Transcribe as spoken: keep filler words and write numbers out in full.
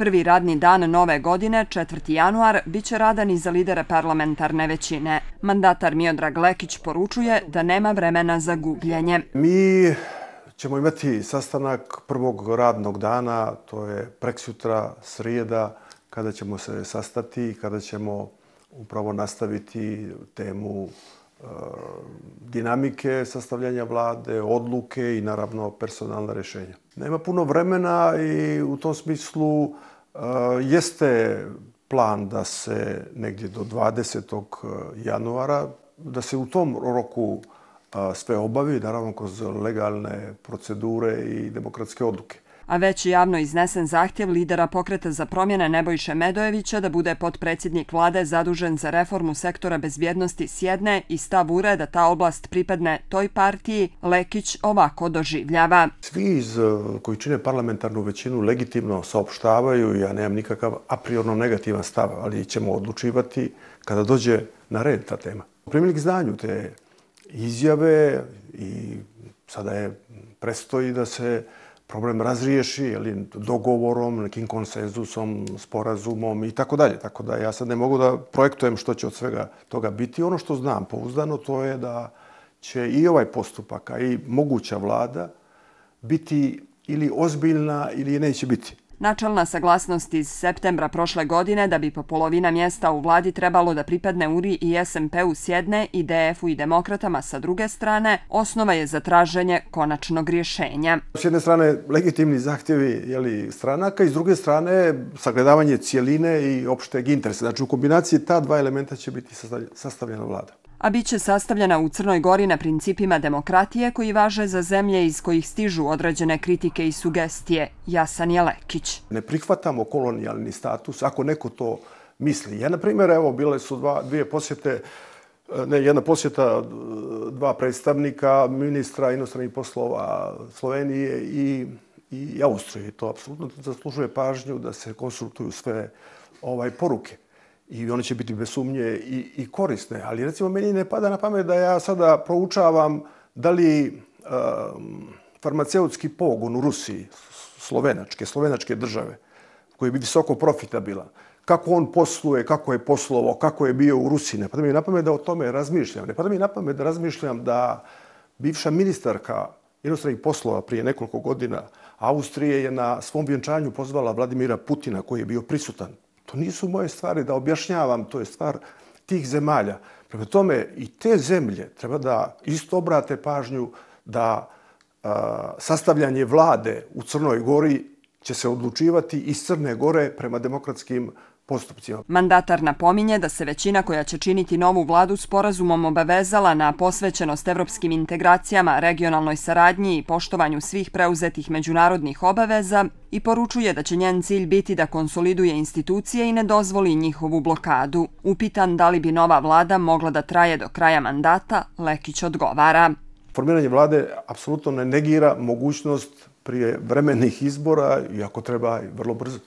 Prvi radni dan nove godine, četvrti januar, bit će radan i za lidere parlamentarne većine. Mandatar Miodrag Lekić poručuje da nema vremena za gubljenje. Mi ćemo imati sastanak prvog radnog dana, to je preksutra, srijeda, kada ćemo se sastati i kada ćemo upravo nastaviti temu e, dinamike sastavljanja vlade, odluke i naravno personalna rješenja. Nema puno vremena i u tom smislu e, jeste plan da se negdje do dvadesetog januara, da se u tom roku a, sve obavi, naravno kroz legalne procedure i demokratske odluke. A već je javno iznesen zahtjev lidera Pokreta za promjene Nebojše Medojevića da bude potpredsjednik vlade zadužen za reformu sektora bezbjednosti s jedne i stav ure da ta oblast pripadne toj partiji, Lekić ovako doživljava. Svi iz, koji čine parlamentarnu većinu legitimno saopštavaju, ja nemam nikakav a priorno negativan stav, ali ćemo odlučivati kada dođe na red ta tema. Primili k znanju te izjave i sada je prestoji da se problem razriješi ili dogovorom, nekim konsenzusom, sporazumom i tako dalje. Tako da ja sad ne mogu da projektujem što će od svega toga biti. Ono što znam pouzdano to je da će i ovaj postupak, a i moguća vlada biti ili ozbiljna ili neće biti. Načelna saglasnost iz septembra prošle godine da bi po polovina mjesta u vladi trebalo da pripadne U R I i S M P-u s jedne i D F-u i demokratama sa druge strane, osnova je za traženje konačnog rješenja. S jedne strane legitimni zahtjevi jeli, stranaka i s druge strane sagledavanje cijeline i opšteg interesa. Znači u kombinaciji ta dva elementa će biti sastavljena vlada. A bit će sastavljena u Crnoj Gori na principima demokratije koji važe za zemlje iz kojih stižu određene kritike i sugestije. Jasan je Lekić. Ne prihvatamo kolonijalni status ako neko to misli. Ja, na primjer, evo, bile su dva, dvije posjete, ne, jedna posjeta dva predstavnika ministra inostranih poslova Slovenije i, i Austrije. To apsolutno zaslužuje pažnju da se konsultuju sve ovaj, poruke. I one će biti bez sumnje i, i korisne. Ali recimo meni ne pada na pamet da ja sada proučavam da li um, farmaceutski pogon u Rusiji, slovenačke, slovenačke države, koji je visoko profitabilan, kako on posluje, kako je poslovao, kako je bio u Rusiji. Ne pada mi na pamet da o tome razmišljam. Ne pada mi na pamet da razmišljam da bivša ministarka inostranih poslova prije nekoliko godina Austrije je na svom vjenčanju pozvala Vladimira Putina koji je bio prisutan. To nisu moje stvari da objašnjavam, to je stvar tih zemalja. Prema tome i te zemlje treba da isto obrate pažnju da a, sastavljanje vlade u Crnoj Gori će se odlučivati iz Crne Gore prema demokratskim postupcima. Mandatar napominje da se većina koja će činiti novu vladu sporazumom obavezala na posvećenost evropskim integracijama, regionalnoj saradnji i poštovanju svih preuzetih međunarodnih obaveza i poručuje da će njen cilj biti da konsoliduje institucije i ne dozvoli njihovu blokadu. Upitan da li bi nova vlada mogla da traje do kraja mandata, Lekić odgovara. Formiranje vlade apsolutno ne negira mogućnost prije vremenih izbora i ako treba vrlo brzo.